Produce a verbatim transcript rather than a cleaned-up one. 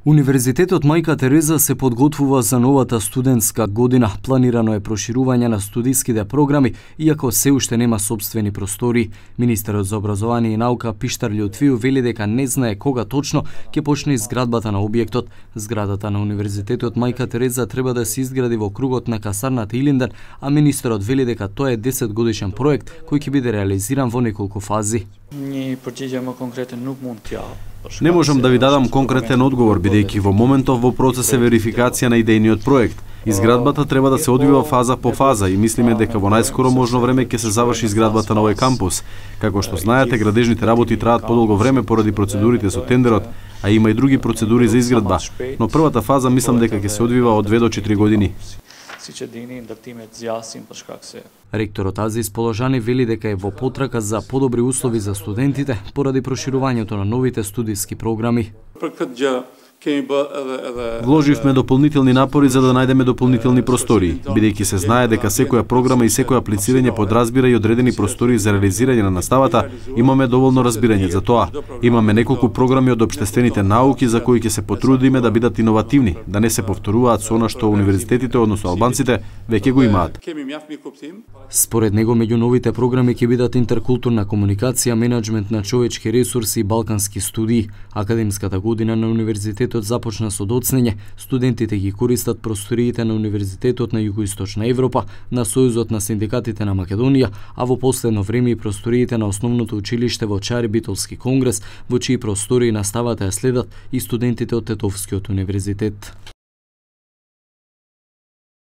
Универзитетот Мајка Тереза се подготвува за новата студентска година. Планирано е проширување на студиските програми, иако се уште нема сопствени простори. Министерот за образование и наука Пиштар Љутвију вели дека не знае кога точно ќе почне изградбата на објектот. Зградата на Универзитетот Мајка Тереза треба да се изгради во кругот на касарната Илинден, а министерот вели дека тоа е десет годишен проект кој ќе биде реализиран во неколку фази. Ни përgjigje конкретен nuk mund t'ja. Не можам да ви дадам конкретен одговор, бидејќи во моментов во процес е верификација на идејниот проект. Изградбата треба да се одвива фаза по фаза и мислиме дека во најскоро можно време ќе се заврши изградбата на овој кампус. Како што знаете, градежните работи траат подолго време поради процедурите со тендерот, а има и други процедури за изградба, но првата фаза мислам дека ќе се одвива од две до четири години. Ректорот Азис Положани вели дека е во потрака за подобри услови за студентите поради проширувањето на новите студиски програми. Вложивме дополнителни напори за да најдеме дополнителни простории, бидејќи се знае дека секоја програма и секој аплицирање подразбира и одредени простории за реализирање на наставата, имаме доволно разбирање за тоа. Имаме неколку програми од општествените науки за кои ќе се потрудиме да бидат иновативни, да не се повторуваат со она што универзитетите, односно албанците, веќе го имаат. Според него, меѓу новите програми ќе бидат интеркултурна комуникација, менеджмент на човечки ресурси и балкански студии. Академската година на универзитетот започна со доцнење. Студентите ги користат просториите на Универзитетот на Југоисточна Европа, на Сојузот на синдикатите на Македонија, а во последно време и просториите на основното училиште во Чари Битолски конгрес, во чии простории наставата ја следат и студентите од Тетовскиот универзитет.